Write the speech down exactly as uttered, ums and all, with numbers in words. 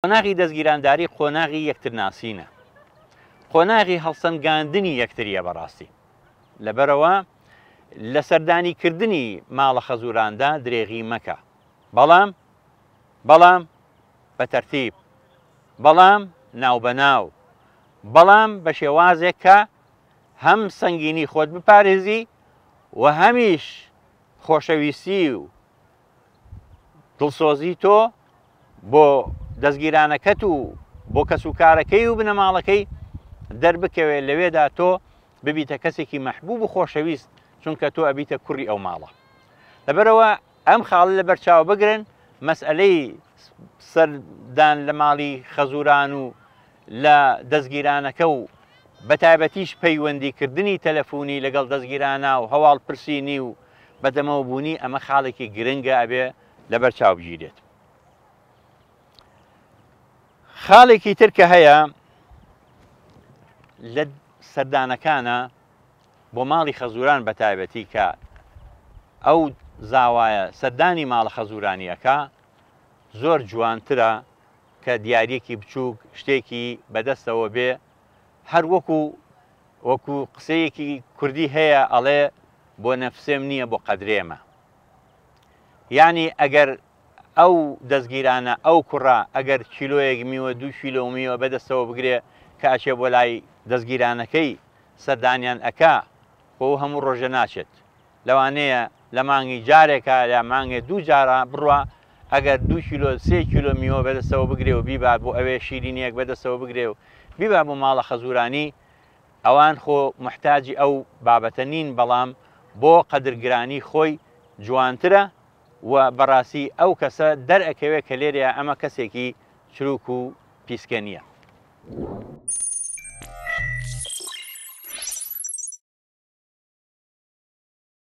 قۆناغی دەستگیرانداری قۆناغی یەکترناسینە، قۆناغی هەڵسەنگاندنی یەکتریە بەڕاستی. لەبەرەوە لە سەردانیکردنی ماڵە خەزوراندا درێغی مەکە، بەڵام بەڵام بە تەرتیب، بەڵام ناوبەناو، بەڵام بە شێوازێک کە هەم سەنگینی خۆت بپارێزی و هەمیش خۆشەویستی و دڵسۆزی تۆ بۆ دەستگیرانەکەت و بۆ کەسوکارەکەی و بنەماڵەکەی دەربکەوێت. لەوێدا تۆ ببیتە کەسێکی مەحبوب و خۆشەویست، چونکە تۆ ئەبیتە کوڕی ئەو ماڵە. لەبەرەوە ئەم خاڵە لەبەرچاو بگرن، مەسئلەی سەردان لە ماڵی خەزوران و لە دەستگیرانەکە و بە تایبەتیش پەیوەندیکردنی تەلەفۆنی لەگەڵ دەستگیرانە و هەواڵ پرسینی و بەدەمەوە بوونی، ئەمە خاڵێکی گرنگە ئەبێ لەبەرچاو بگیرێت. خاڵێکی تر کە هەیە لە سەردانەکانە بۆ ماڵی خەزوران بە تایبەتی کە ئەو زاوایە سەردانی ماڵە خەزورانیەکە زۆر جوانترە کە دیارێکی بچووک شتێکی بەدەستەوە بێ. هەر وەکو وەکو قسەیەکی کوردی هەیە ئەڵێ بۆ نەفسێم نییە بۆ قەدرێمە. یعنی ئەگەر ئەو دەستگیرانە ئەو کوڕە ئەگەر کیلۆیەک میوە دوو کیلۆ میوە بەدەستەوە بگرێ کە ئەچێ بۆ لای دەستگیرانەکەی سەردانیان ئەکا، خۆ هەموو ڕۆژە ناچێت، لەوانەیە لە مانگی جارێکە یا مانگێ دوو جارە بڕوا، ئەگەر دوو کیلۆ سێ کیلۆ میوە بەدەستەوە بگرێ و بیبا بۆ ئەوێ شیرینیەک بەدەستەوە بگرێ و بیبا بۆ ماڵە خەزورانی، ئەوان خۆ محتاجی ئەو بابەتە نین، بەڵام بۆ قەدرگرانی خۆی جوانترە و بەڕاستی ئەو کەسە دەرئەکەوێت کە لێرەیە ئەمە کەسێکی چروک و پیسکە نییە.